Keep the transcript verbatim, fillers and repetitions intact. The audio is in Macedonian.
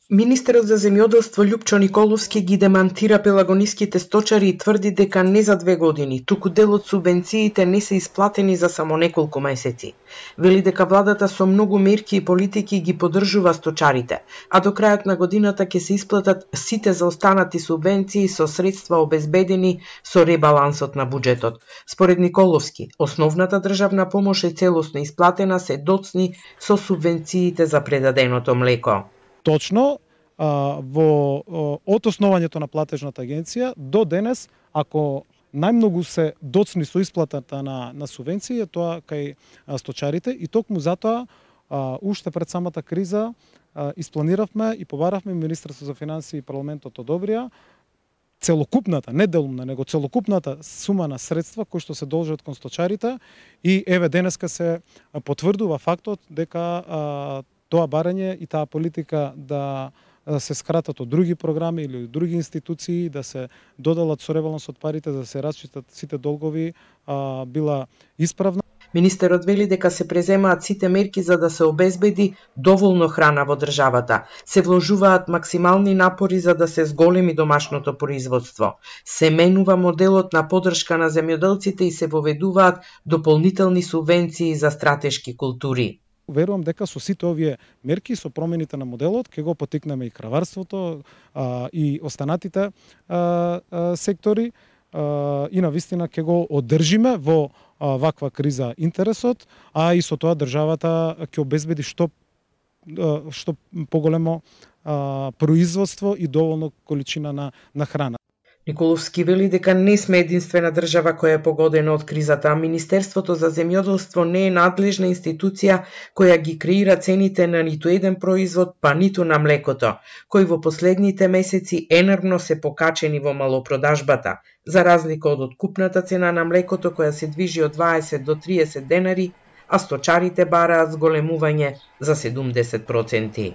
Министерот за земјоделство Љупчо Николовски ги демантира пелагониските сточари и тврди дека не за две години, туку дел од субвенциите не се исплатени за само неколку месеци. Вели дека владата со многу мерки и политики ги поддржува сточарите, а до крајот на годината ќе се исплатат сите заостанати субвенции со средства обезбедени со ребалансот на буџетот. Според Николовски, основната државна помош е целосно исплатена, се доцни со субвенциите за предаденото млеко. Точно, во од основањето на платежната агенција до денес, ако најмногу се доцни со исплатата на, на субвенции, е тоа кај сточарите и токму затоа уште пред самата криза испланиравме и побаравме Министерството за финансии и парламентот одобрија целокупната, не делумна, него целокупната сума на средства кои што се должат кон сточарите и еве денеска се потврдува фактот дека тоа барање и таа политика да се скратат од други програми или од други институции, да се додалат со ребалансот парите, да се расчистат сите долгови, а, била исправна. Министерот вели дека се преземаат сите мерки за да се обезбеди доволно храна во државата. Се вложуваат максимални напори за да се зголеми домашното производство. Се менува моделот на поддршка на земјоделците и се воведуваат дополнителни субвенции за стратешки култури. Верувам дека со сите овие мерки, со промените на моделот, ќе го потикнеме и краварството а, и останатите а, а, сектори а, и навистина ќе го одржиме во а, ваква криза интересот, а и со тоа државата ќе обезбеди што, а, што поголемо а, производство и доволно количина на, на храна. Николовски вели дека не сме единствена држава која е погодена од кризата, а Министерството за земјоделство не е надлежна институција која ги креира цените на ниту еден производ, па ниту на млекото, кои во последните месеци енервно се покачени во малопродажбата, за разлика од откупната цена на млекото која се движи од дваесет до триесет денари, а сточарите бараат зголемување за седумдесет проценти.